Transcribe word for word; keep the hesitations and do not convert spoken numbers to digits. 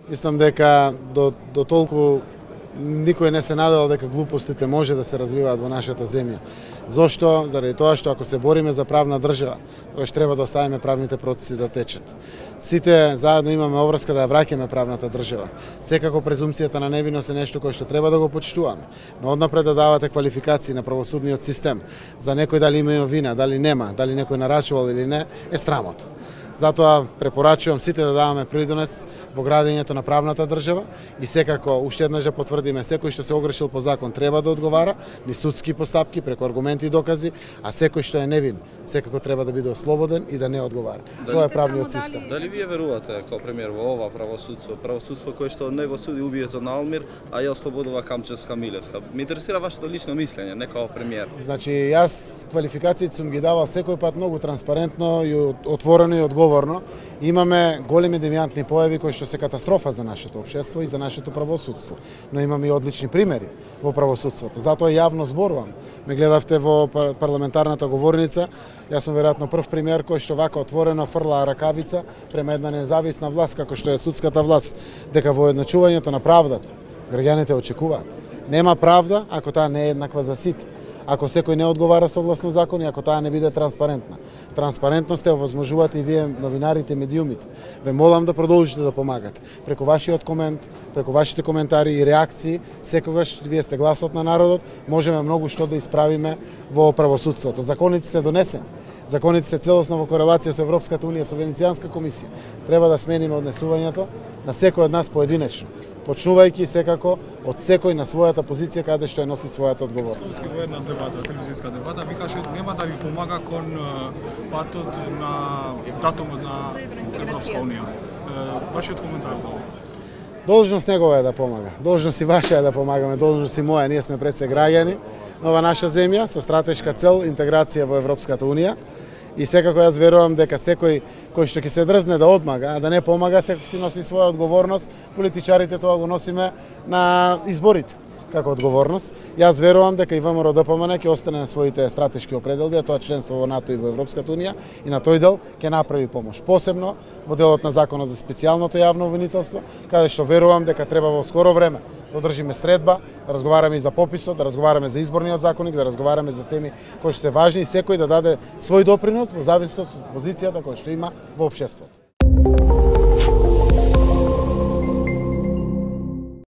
Мислам дека до, до толку никој не се надал дека глупостите може да се развиваат во нашата земја. Зошто? Заради тоа што ако се бориме за правна држава, тогаш треба да оставиме правните процеси да течат. Сите заедно имаме обврска да ја враќаме правната држава. Секако презумцијата на невиност е нешто кое што треба да го почитуваме. Но однапред да давате квалификации на правосудниот систем за некој дали има вина, дали нема, дали некој нарачувал или не, е срамота. Затоа препорачувам сите да даваме придонес во градењето на правната држава и секако уште еднаш да потврдиме секој што се огрешил по закон треба да одговара, ни судски постапки преку аргументи и докази, а секој што е невин секако треба да биде ослободен и да не одговара. Дали, Тоа е правниот систем. Дали вие верувате како премиер во ова правосудство, правосудство кое што не го суди убиецот на Алмир, а ја ослободува Камчевска Милевска? Ме интересира вашето лично мислење, не како премиер. Значи, јас квалификациите сум ги давал секој пат многу транспарентно и отворено и одговорно. Имаме големи девијантни појави кои што се катастрофа за нашето општество и за нашето правосудство, но имаме и одлични примери во правосудството. Затоа јавно зборувам. Ме гледавте во парламентарната говорница. Јас сум веројатно прв премиер кој што вака отворено фрла ракавица према една независна власт како што е судската власт, дека во едначувањето на правдата граѓаните очекуваат. Нема правда ако таа не е еднаква за сите. Ако секој не одговара согласно закон и ако таа не биде транспарентна. Транспарентност е овозможувате и вие новинарите, медиумите. Ве молам да продолжите да помагате. Преку вашиот комент, преку вашите коментари и реакции, секогаш вие сте гласот на народот, можеме многу што да исправиме во правосудството. Законите се донесени. Законите се целосно во корелација со Европската унија, со Венецијанска комисија. Треба да смениме однесувањето на секој од нас поединечно, почнувајќи секако од секој на својата позиција каде што ја носи својата одговорност. Скопски во една дебата, телевизијска дебата, ви каже нема да ви помага кон патот на датумот на Европска унија. Вашиот коментар за ова? Должност негова е да помага. Должност и ваша е да помагаме, должност и моја. Ние сме пред се граѓани на ова наша земја со стратешка цел интеграција во Европската унија. И секако јас верувам дека секој кој што ќе се дрзне да одмага, а да не помага, секој си носи своја одговорност. Политичарите тоа го носиме на изборите како одговорност. Јас верувам дека и ВМРО Д П М Н ќе остане на своите стратешки определби, а тоа членство во НАТО и во Европската унија, и на тој дел ќе направи помош. Посебно во делот на законот за специјалното јавно обвинителство, каде што верувам дека треба во скоро време да одржиме средба, да разговараме и за пописот, да разговараме за изборниот законник, да разговараме за теми кои што се важни и секој да даде свој допринос во зависност од позицијата која што има во општеството.